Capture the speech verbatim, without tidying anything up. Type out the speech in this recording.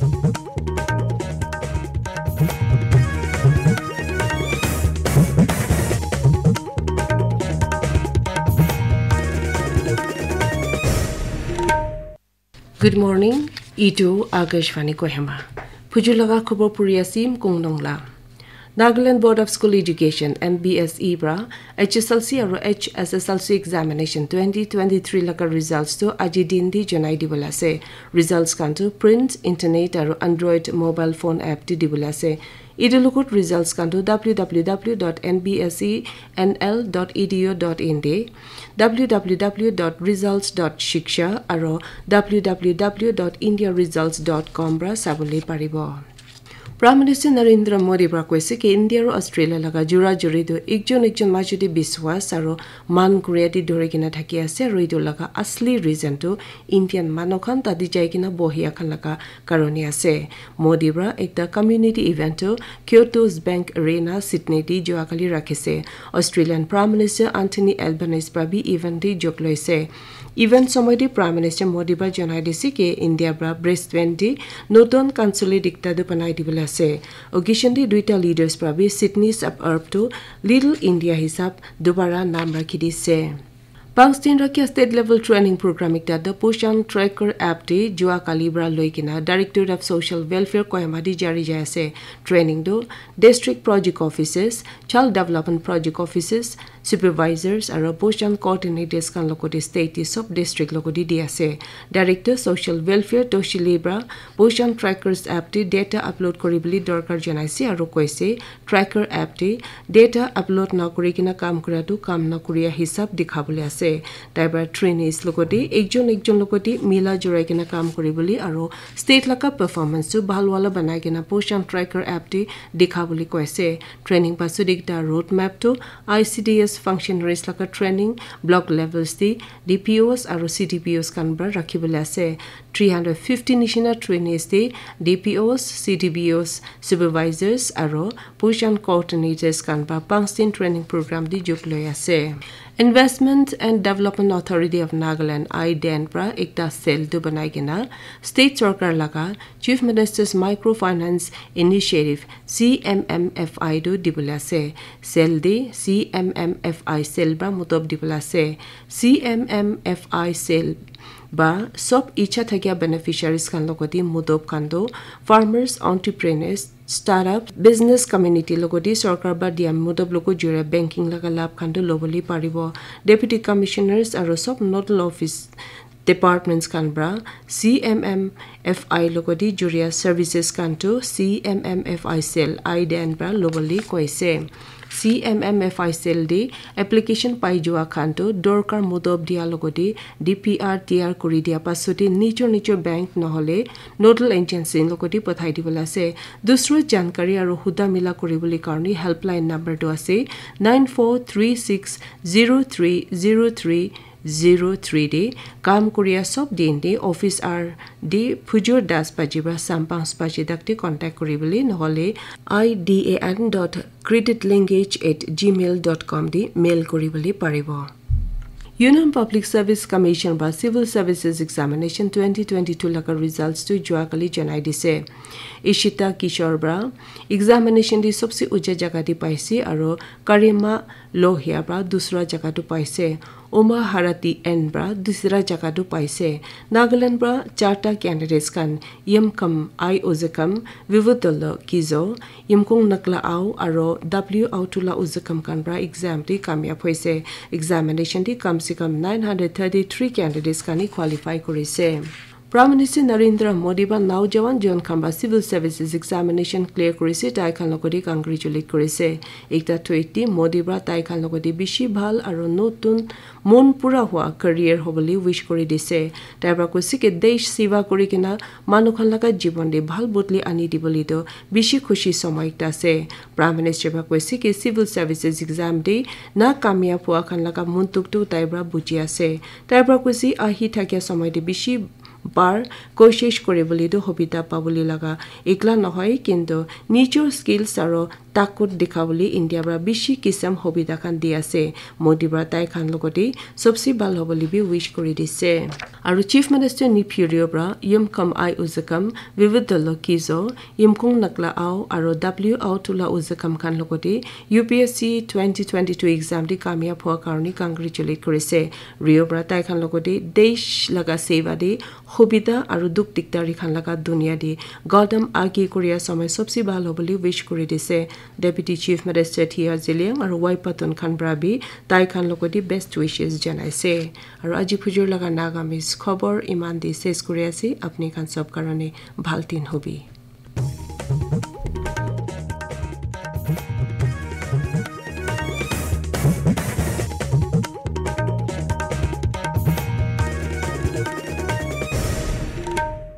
Good morning. Itu Akashvani Kohima. Phuju laga khobor puri asim Kong Nongla. Nagaland Board of School Education, N B S E pra H S L C aru H S S L C examination twenty twenty-three laga results tu aji din di janai dibole ase. Results khan tu print, internet aru Android mobile phone app di dibole ase. Itu lugut results khan tu w w w dot n b s e n l dot e d u dot in de, w w w dot results dot shiksha aru w w w dot india results dot com pra sabole paribo. Prime Minister Narendra Modi pra koise ki India aru Australia laga jura juri tu ekjon ekjon majute biswas aru man kuria di dhori kena thaki ase aru itu laga asli reason tu Indian manu khan tadi jai kena bohia khan laga karone ase. Modi pra ekta community event tu Kyoto's Bank Arena, Sydney di jua kali rakhise. Australian Prime Minister Anthony Albanese pra bi event di jok loise. Event somoy di Prime Minister Modi pra janai dise ki India pra Brisbane di notun consulate ekta tu banai dibole ase. Occasion di duita leaders pra bi Sydney suburb tu Little India hisab dubara naam rakhi dise. Pangstin Rakia State Level Training Program ekta The Poshan Tracker app te jua kali pra loi kena Directorate of Social Welfare Kohima di jari jai ase. Training tu District Project Offices, Child Development Project Offices, Supervisors aru Poshan Coordinators khan logote state te sob district logote di ase. Director Social Welfare Toshi Lee pra Poshan Trackers app te data upload kori bole dorkar janaise aru koise tracker app te data upload na kuri kena kam kura tu kam na kuria hisab dikha bole ase. Tai pra trainees logote ekjon ekjon logote mila jurai kena kam kuri bole aru state laga performance tu bhal wala banai kena Poshan Tracker app te dikha bole koise. Training pasut ekta road map tu I C D S functionaries laga training block levels te D P Os aru C D P Os khan pra rakhi bole ase. Three hundred fifty nishina trainees te D P Os, C D P Os, supervisors aru Poshan coordinators khan pra Pangstin training program di jok loi ase. Investment and Development Authority of Nagaland, I D N pra ekta cell tu banai kena state sorkar laga Chief Minister's Microfinance Initiative, C M M F I tu dibole ase. Cell di C M M F I cell pra mutob dibole ase. C M M F I cell ba sob icha thakia beneficiaries khan logote mutob khan tu farmers, entrepreneurs, startup, business community logote sorkar ba dia mutob logo jure banking laga lab khan tu lobole paribo. Deputy Commissioners aru sob nodal office departments khan pra C M M F I logote juria services khan tu C M M F I cell I D N pra lobole koise. C M M F I cell de application pai jua khan tu dorkar mutob dia logote D P R tiyar kuri dia pasute nijor nijor bank nohole nodal agency logote pathai dibole ase. Dusra jankari aru huda mila kuri bole karone helpline number tu ase nine four three six zero three zero three zero three de kam kuria sob din de office hour de phujur das baji pra sam panch baji tak de contact kuri bole nohole I D A N dot credit linkage at gmail dot com de mail kuri bole paribo. Union Public Service Commission pra Civil Services Examination twenty twenty-two laga results tu jua kali janai dise. Ishita Kishore pra examination de sobse uja jaga de paise aru Karima Lohia pra dusra jaga tu paise. Uma Harati N pra dusra jaga tu paise. Nagaland pra charta candidates khan Yimkam I Ozekam, Vivutolo Kizo, Yimkung Nakla Au aru W Autula Ozekam khan pra exam de kamyab hoise. Examination de kam se kam nine hundred thirty-three candidates khan hi qualify kurise. Prime Minister Narendra Modi pra naujawan jon khan pra civil services examination clear kurise, tai khan logote congratulate kurise. Ekta tweet de Modi pra tai khan logote bishi bhal aru notun mon pura hua career hobole wish kuri dise. Tai pra koise ki desh seva kuri kena manu khan laga jibon de bhal bodli ani dibole tu bishi khushi somoy ekta ase. Prime Minister pra koise ki civil services exam de na kamyab hua khan laga mon dukh tu tai pra buji ase. Tai pra koise ahi thakia somoy de bishi bar koshish kuri bole tu hobita pabole laga ekla nohoi, kintu nijor skills aru takut dikhabole India para bishi kisam hobida khan di ase. Modi para tai khan logote sobse bhal hobole bi wish kuri dise. Aru Chief Minister Neiphiu Rio para Yimkam Ai Uzakam, Vividolo Kizo, Yimkung Nakla Au, aru W Au Tula Uzakam khan logote U P S C twenty twenty-two exam te kamyab hua karone congratulate kurise. Rio para tai khan logote desh laga seva te hobida aru dukh dikdari khan laga dunia te gadam age koria samay sobse bhal hobole wish kuri dise. Deputy Chief Minister Tia Zeliang aru Y Patton khan para bi tai khan logote best wishes janaise. Aru aji phujur laga Nagamese khobor iman te ses kuri ase. Apni khan sob karone bhal din hobi.